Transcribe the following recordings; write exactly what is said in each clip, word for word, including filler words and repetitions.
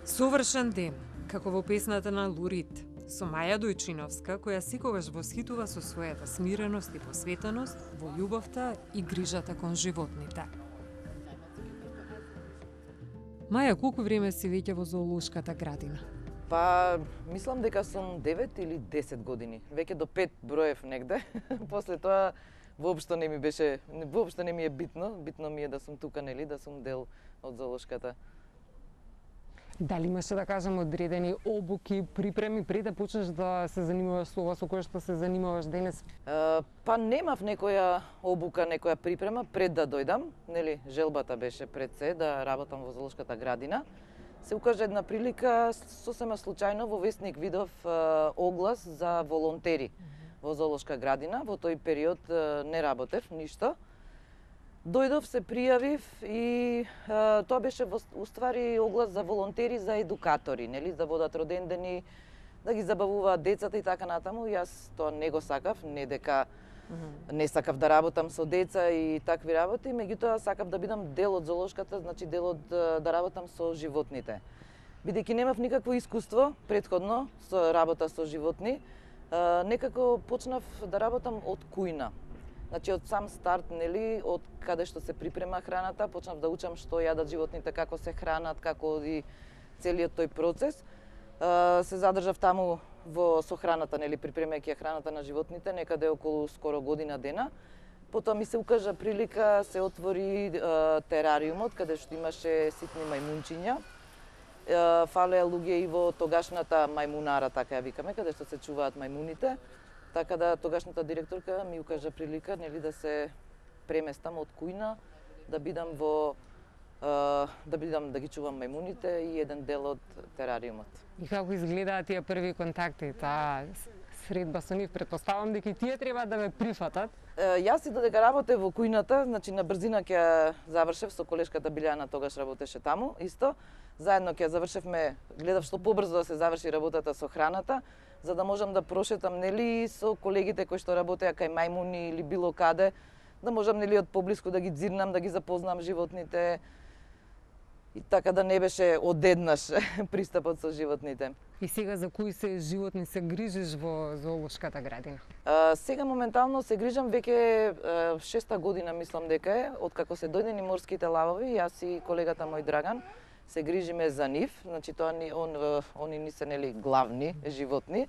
Совршен ден, како во песната на Лурид, со Маја Дојчиновска, која секогаш восхитува со својата смиреност и посветеност во љубовта и грижата кон животните. Маја, колку време си веќе во зоолошката градина? Па, мислам дека сум девет или десет години. Веќе до пет броев негде. После тоа воопшто не ми беше, воопшто не ми е битно. Битно ми е да сум тука, нели, да сум дел од зоолошката. Дали имаше, да кажем, одредени обуки, припреми пред да почнеш да се занимаваш со ова со кое што се занимаваш денес? Uh, па немав некоја обука, некоја припрема пред да дојдам, нели, желбата беше пред се да работам во зоолошката градина. Се укажа една прилика, сосема случајно во весник видов uh, оглас за волонтери во зоолошка градина. Во тој период uh, не работев ништо. Дојдов, се пријавив и а, тоа беше во уствари оглас за волонтери, за едукатори, нели, да водат родендени, да ги забавуваат децата и така натаму. Јас тоа не го сакав, не дека mm -hmm. не сакав да работам со деца и такви работи, меѓутоа сакав да бидам дел од зоолошката, значи дел од да работам со животните. Бидејќи немав никакво искуство претходно со работа со животни, а, некако почнав да работам од кујна. Значи од сам старт, нели, од каде што се припрема храната, почнав да учам што јадат животните, како се хранат, како оди целиот тој процес. Се задржав таму во со храната, нели, припремајќи храната на животните, некаде околу скоро година дена. Потоа ми се укажа прилика, се отвори терариумот, каде што имаше ситни мајмунчиња. Фалеа луѓе и во тогашната мајмунара, така ја викаме, каде што се чуваат мајмуните. Така да тогашната директорка ми укажа прилика, нели, да се преместам од кујна, да бидам во да бидам да ги чувам мајмуните и еден дел од терариумот. И како изгледаат тие први контакти, таа средба со нив? Претпоставам дека и тие треба да ме прифатат. Јас и додека работев во кујната, значи на брзина ќе завршев со колешката Билјана, тогаш работеше таму исто. Заедно ќе завршевме, гледав што побрзо да се заврши работата со храната, за да можам да прошетам, нели, со колегите кои што работеа кај мајмуни или било каде, да можам, нели, од поблиску да ги дзирнам, да ги запознам животните. И така да не беше одеднаш пристапот со животните. И сега за кои се животни се грижиш во зоолошката градина? А, сега моментално се грижам веќе шеста година, мислам дека е, откако се дојдени морските лавови, јас и колегата мој Драган се грижиме за нив, значи тоа ни он они ни се, нели, главни животни.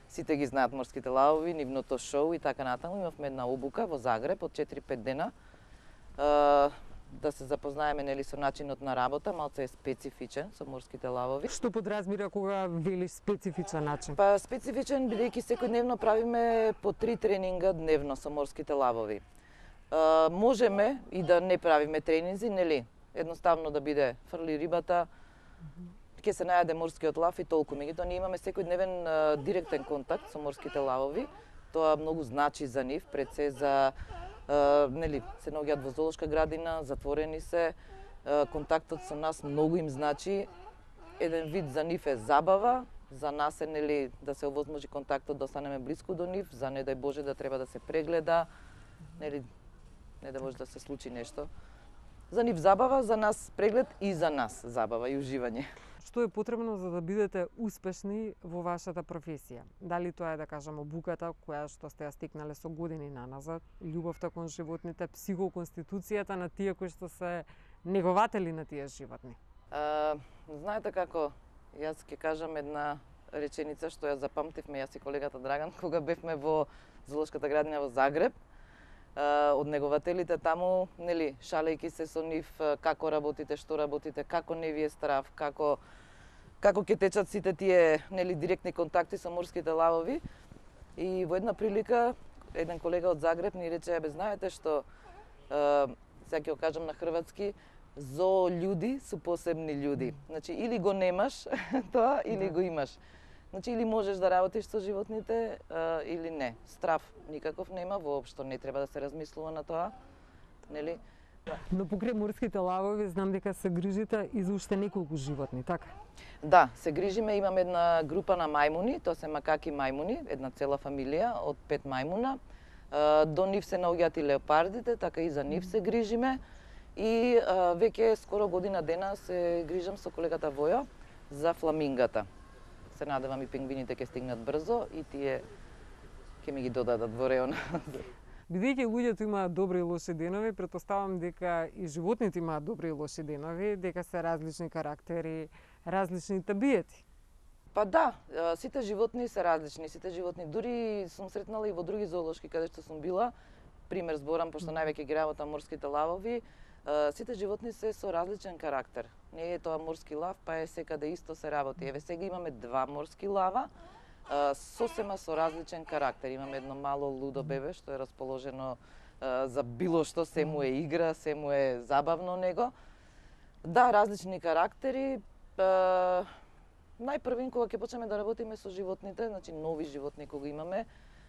Сите ги знаат морските лавови, нивното шоу и така натаму. Имавме една обука во Загреб од четири-пет дена. А, да се запознаеме, нели, со начинот на работа, малце е специфичен со морските лавови. Што подразбира кога велиш специфичен начин? Па специфичен бидејќи секојдневно правиме по три тренинга дневно со морските лавови. А, можеме и да не правиме тренинзи, нели? Едноставно да биде фрли рибата, ќе се најаде морскиот лав и толку. Меѓутоа ние имаме секојдневен а, директен контакт со морските лавови. Тоа многу значи за нив, пред се за а, нели, се наоѓаат во зоолошка градина, затворени се, а, контактот со нас многу им значи. Еден вид за нив е забава, за нас е, нели, да се овозможи контактот, да останеме блиску до нив, за не дај Боже да треба да се прегледа, нели, не да може да се случи нешто. За нив забава, за нас преглед и за нас забава и уживање. Што е потребно за да бидете успешни во вашата професија? Дали тоа е, да кажам, обуката која што сте ја стекнале со години наназад, љубовта кон животните, психоконституцијата на тие кои што се негователи на тие животни? А, знаете како, јас ќе кажам една реченица што ја запамтивме јас и колегата Драган кога бевме во зоолошката градина во Загреб. Од негователите таму, нели, шалејќи се со нив, како работите, што работите, како не ви е страв, како како ќе течат сите тие, нели, директни контакти со морските лавови. И во една прилика еден колега од Загреб ни рече: "Бе, знаете што, сега ќе го кажам на хрватски, зоо људи су посебни људи." Значи или го немаш тоа, или го имаш. Значи, или можеш да работиш со животните, а, или не. Страв никаков нема, воопшто не треба да се размислува на тоа, нели? Но покрај морските лавови знам дека се грижите и за уште неколку животни, така? Да, се грижиме, имаме една група на мајмуни, тоа се макаки мајмуни, една цела фамилија од пет мајмуна. А, до нив се наоѓаат и леопардите, така и за нив се грижиме. И а, веќе скоро година дена се грижам со колегата Војо за фламингата. Се надевам и пингвините ќе стигнат брзо и тие ќе ми ги додадат во реон. Бидејќи луѓето имаат добри и лоши денови, претпоставам дека и животните имаат добри и лоши денови, дека се различни карактери, различни табиети. Па да, сите животни се различни, сите животни. Дури сум сретнала и во други зоолошки каде што сум била, пример зборам, пошто највеќе ги работам морските лавови, сите животни се со различен карактер. Не е тоа морски лав, па е секаде исто се работи. Еве сега имаме два морски лава, сосема со различен карактер. Имаме едно мало лудо бебе што е расположено за било што, се му е игра, се му е забавно него. Да, различни карактери. Најпрвин кога ќе почнеме да работиме со животните, значи нови животни кога имаме,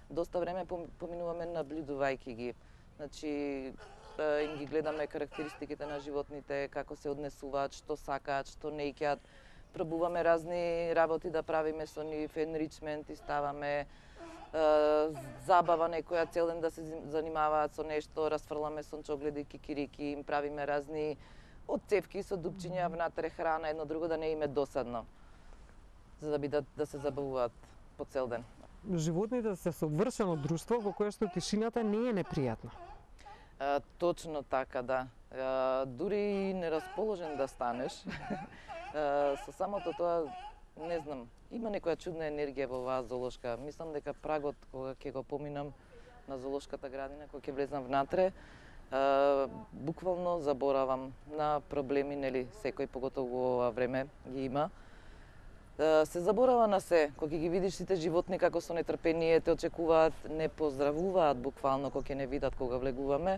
доста време поминуваме наблюдувајќи ги. Значи им ги гледаме карактеристиките на животните, како се однесуваат, што сакаат, што не икаат. Пробуваме разни работи да правиме со нив, енричмент и ставаме, е, забава некоја цел ден да се занимаваат со нешто, расфрламе сончогледи, кикирики, им правиме разни отцепки со дупчиња внатре храна, едно друго да не им е досадно, за да бидат да се забавуваат по цел ден. Животните се совршено друштво во кое што тишината не е непријатна. А, точно така, да. А, дури и нерасположен да станеш, а, со самото тоа, не знам, има некоја чудна енергија во оваа зоолошка. Мислам дека прагот кога ќе го поминам на зоолошката градина, кога ќе влезам внатре, а, буквално заборавам на проблеми, нели, секој поготово во ова време ги има. Се заборава на се, кога ќе ги видиш сите животни како со нетрпение те очекуваат, не поздравуваат буквално кога ќе не видат кога влегуваме.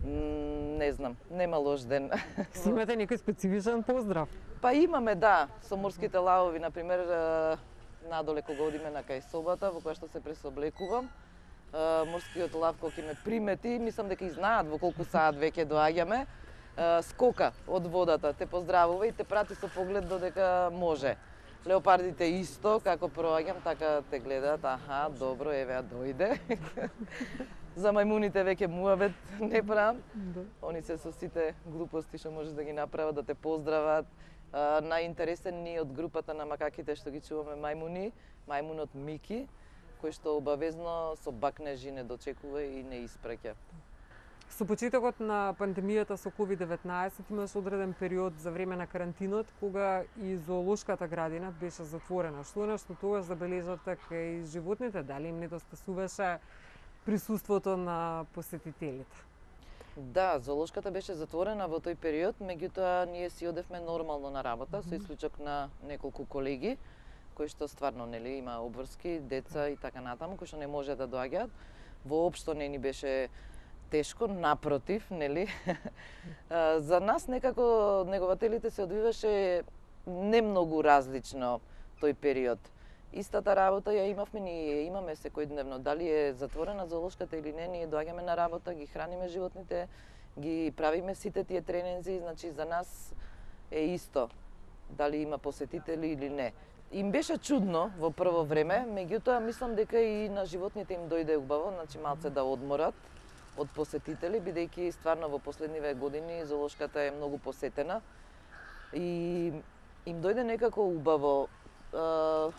Не знам, нема лош ден. Си имате некој специфичен поздрав? Па имаме, да, со морските лавови, например, надоле кога одиме на кај собата, во која што се пресоблекувам, морскиот лав кога ќе ме примети, мислам дека и знаат во колку саат веќе доаѓаме, скока од водата, те поздравува и те прати со поглед додека може. Леопардите исто, како проаѓам, така те гледаат, аха, добро, еве ја дојде. За мајмуните веќе муавет не правам. Да. Они се со сите глупости што можеш да ги направат, да те поздрават. Најинтересен ни од групата на макаките што ги чуваме мајмуни, мајмунот Мики, кој што обавезно со бакнежи не дочекува и не испраќа. Со почетокот на пандемијата со ковид деветнаесет имаш одреден период за време на карантинот кога и зоолошката градина беше затворена. Што нешто тогаш забележавте кај животните? Дали им недостасуваше присуството на посетителите? Да, зоолошката беше затворена во тој период, меѓутоа ние си одевме нормално на работа, со исклучок на неколку колеги кои што стварно, нели, има обврски, деца и така натаму, кои што не може да доаѓаат. Воопшто не ни беше тешко, напротив, нели? За нас некако негователите се одвиваше не многу различно тој период. Истата работа ја имавме, ние имаме секојдневно. Дали е затворена зоолошката или не, ние доаѓаме на работа, ги храниме животните, ги правиме сите тие тренинзи, значи за нас е исто дали има посетители или не. Им беше чудно во прво време, меѓутоа мислам дека и на животните им дојде убаво, значи малце да одморат од посетители, бидејќи стварно во последниве години зоолошката е многу посетена и им дојде некако убаво. Е,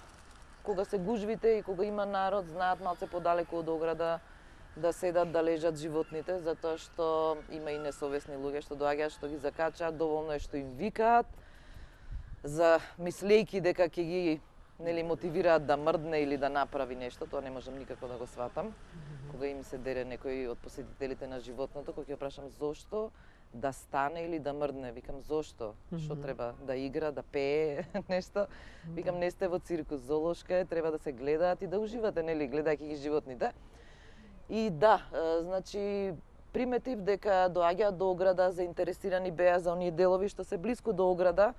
кога се гужвите и кога има народ, знаат малце подалеку од ограда да седат, да лежат животните, затоа што има и несовесни луѓе што доаѓаат, што ги закачаат, доволно е што им викаат, за мислејки дека ќе ги, нели, мотивираат да мрдне или да направи нешто, тоа не можам никако да го сватам. Кога им се дере некој од посетителите на животното, кога ќе прашам зошто да стане или да мрдне, викам зошто? Што треба да игра, да пее, нешто? Викам не сте во циркус, зоолошка е, треба да се гледаат и да уживате, нели, гледајќи ги животните. И да, значи приметив дека доаѓаат до ограда, заинтересирани беа за оние делови што се блиску до ограда,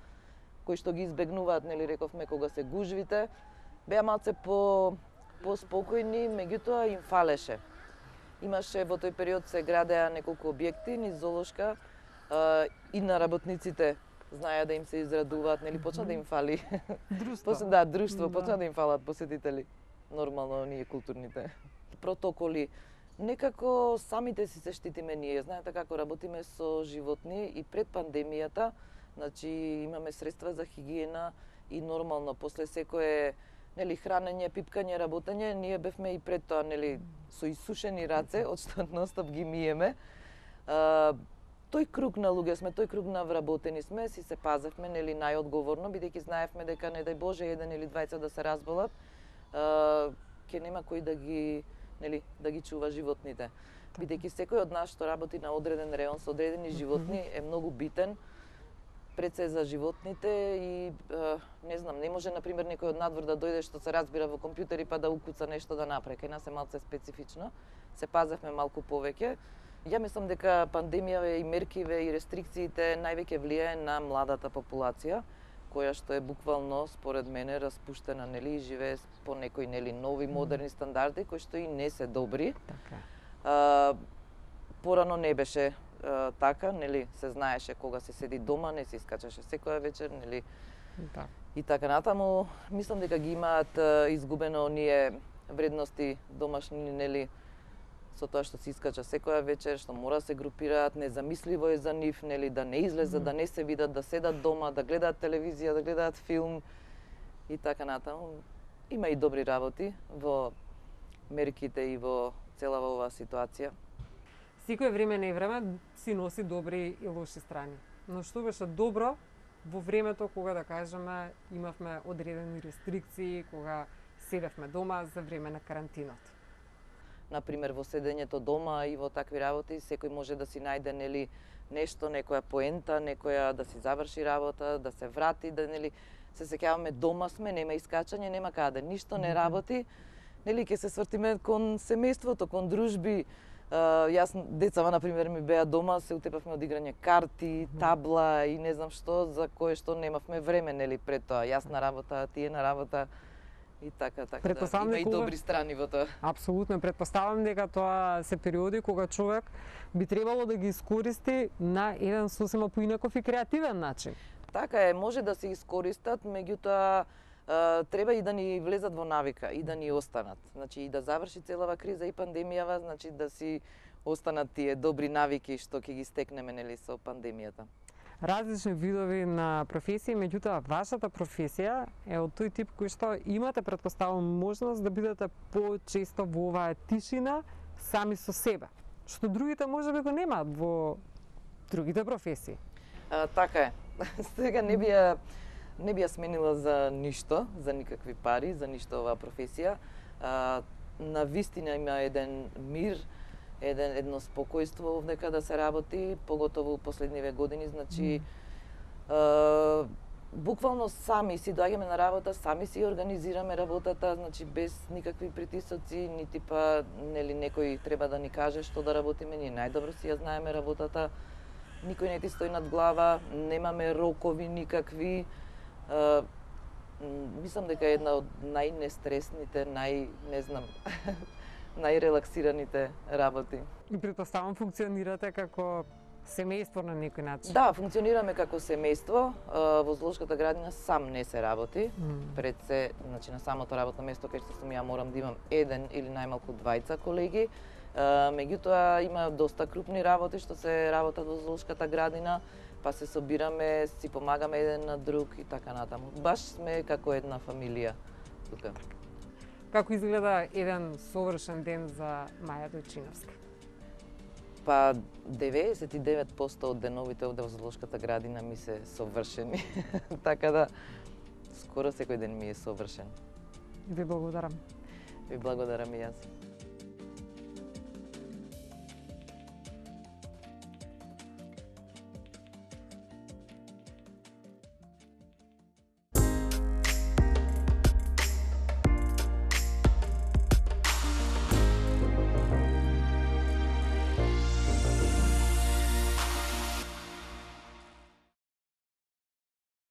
кои што ги избегнуваат, нели рековме, кога се гужвите, беа малце по поспокојни, меѓутоа им фалеше. Имаше во тој период се градеа неколку објекти низ зоолошка и на работниците знаеа да им се израдуваат, нели почна да им фали. Друштво. Почна, да, друштво, да. Почна да им фалат посетители. Нормално оние културните протоколи. Некако самите си се штитиме ние. Знаете како работиме со животни и пред пандемијата Значи имаме средства за хигиена и нормално после секое, нели, хранење, пипкање, работење, ние бевме и пред тоа, нели, со исушени раце, од што ностоп ги миеме. А, тој круг на луѓе сме, тој круг на вработени сме, си се пазевме, нели, најодговорно, бидејќи знаевме дека не дај Боже еден или двајца да се разболат, а, ке нема кој да ги, нели, да ги чува животните. Бидејќи секој од нас што работи на одреден реон со одредени животни е многу битен пред се за животните и а, не знам, не може на пример некој од надвор да дојде што се разбира во компјутери па да укуца нешто да направи. Кај нас е малце специфично. Се пазевме малку повеќе. Ја мислам дека пандемијава и меркиве и рестрикциите највеќе влијае на младата популација, која што е буквално според мене распуштена, нели, и живее по некои, нели, нови модерни стандарди кои што и не се добри. Така. А, порано не беше а, така, нели, се знаеше кога се седи дома, не се искачаше секоја вечер, нели. Да. И така натаму, мислам дека ги имаат а, изгубено оние вредности домашни, нели, со тоа што се искача секоја вечер, што мора да се групираат, незамисливо е за нив, нели, да не излезат, mm. да не се видат, да седат дома, да гледаат телевизија, да гледаат филм и така натаму. Има и добри работи во мерките и во целава оваа ситуација. Секој време не време си носи добри и лоши страни. Но што беше добро во времето кога, да кажеме, имавме одредени рестрикции, кога седевме дома за време на карантинот? Например, во седењето дома и во такви работи, секој може да си најде, нели, нешто, некоја поента, некоја да си заврши работа, да се врати, да, нели, се сеќаваме дома сме, нема искачање, нема каде, ништо не работи. Нели, ќе се свртиме кон семејството, кон дружби. Uh, јас, децава, например, ми беа дома, се утепавме од играње карти, табла и не знам што, за кое што немавме време, нели, пред тоа. Јас на работа, тие на работа. И така, така, да, има и добри страни во тоа. Апсолутно, претпоставам дека тоа се периоди кога човек би требало да ги искористи на еден сосема поинаков и креативен начин. Така е, може да се искористат, меѓутоа треба и да ни влезат во навика и да ни останат. Значи и да заврши целава криза и пандемијава, значи да си останат тие добри навики што ќе ги стекнеме, нели, со пандемијата. Различни видови на професии, меѓутоа вашата професија е од тој тип кој што имате, претпоставам, можност да бидете почесто во оваа тишина сами со себе, што другите можеби го немаат во другите професии. А, така е. Сега не би ја не би ја сменила за ништо, за никакви пари, за ништо оваа професија. А, на вистина има еден мир, еден едно спокојство овдека да се работи, поготово последниве години, значи mm. е, буквално сами си доаѓаме на работа, сами си организираме работата, значи без никакви притисоци, нити па, нели, некој треба да ни каже што да работиме, ние најдобро си ја знаеме работата. Никој не ти стои над глава, немаме рокови никакви. Е, мислам дека е една од најнестресните, нај, не знам, најрелаксираните работи. И претпоставам функционирате како семејство на некој начин. Да, функционираме како семејство. Во зоолошката градина сам не се работи. Mm. Пред се, значи на самото работно место кај што сум ја морам да имам еден или најмалку двајца колеги. Меѓутоа има доста крупни работи што се работат во зоолошката градина, па се собираме, си помагаме еден на друг и така натаму. Баш сме како една фамилија тука. Како изгледа еден совршен ден за Маја Дојчиновска? Па деветдесет и девет проценти од деновите овде во зоолошката градина ми се совршени. Така да скоро секој ден ми е совршен. Ви благодарам. Ви благодарам и јас.